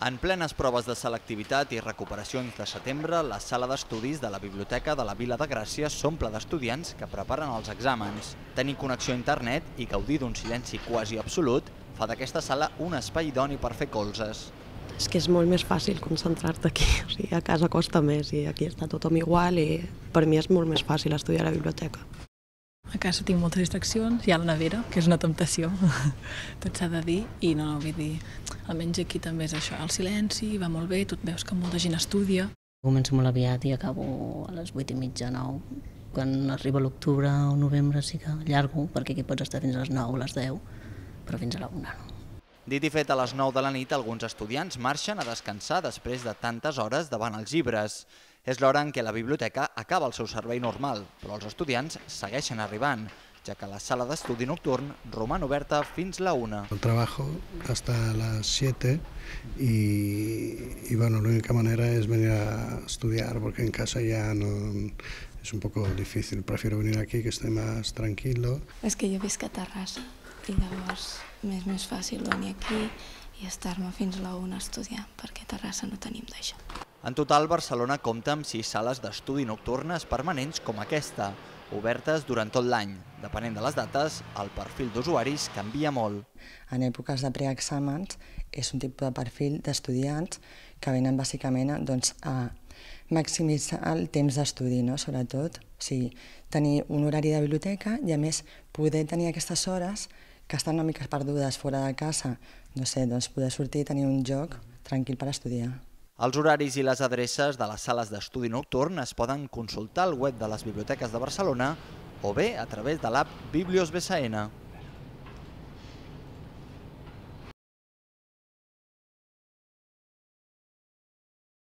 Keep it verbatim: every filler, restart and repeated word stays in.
En plenes proves de selectivitat i recuperacions de setembre, la sala d'estudis de la Biblioteca de la Vila de Gràcia s'omple d'estudiants que preparen els exàmens. Tenir connexió a internet i gaudir d'un silenci quasi absolut fa d'aquesta sala un espai idoni per fer colzes. És que és molt més fàcil concentrar-te aquí, o sigui, a casa costa més i aquí està tothom igual i per mi és molt més fàcil estudiar a la biblioteca. A casa tinc moltes distraccions, hi ha la nevera, que és una temptació, tot s'ha de dir, i no, vull dir, almenys aquí també és això, el silenci, va molt bé, tu veus que molta gent estudia. Començo molt aviat i acabo a les vuit i mitja, nou. Quan arriba l'octubre o novembre sí que allargo, perquè aquí pots estar fins a les nou o les deu, però fins a la una no. Dit i fet, a les nou de la nit, alguns estudiants marxen a descansar després de tantes hores davant els llibres. És l'hora en què la biblioteca acaba el seu servei normal, però els estudiants segueixen arribant, ja que la sala d'estudi nocturn roman oberta fins la una. Trabajo hasta las siete y, y bueno, la única manera es venir a estudiar porque en casa ya no, es un poco difícil. Prefiero venir aquí que esté más tranquilo. És que jo visc a Terrassa i llavors m'és més fàcil venir aquí i estar-me fins a la una a estudiar perquè a Terrassa no tenim d'això. En total, Barcelona compta amb sis sales d'estudi nocturnes permanents com aquesta, obertes durant tot l'any. Depenent de les dates, el perfil d'usuaris canvia molt. En èpoques de preexàmens és un tipus de perfil d'estudiants que venen bàsicament doncs, a maximitzar el temps d'estudi, no? Sobretot, o sigui, tenir un horari de biblioteca i a més poder tenir aquestes hores que estan una mica perdudes fora de casa, no sé, doncs poder sortir i tenir un lloc tranquil per estudiar. Els horaris i les adreces de les sales d'estudi nocturn es poden consultar al web de les biblioteques de Barcelona o bé a través de l'app Biblios B S N.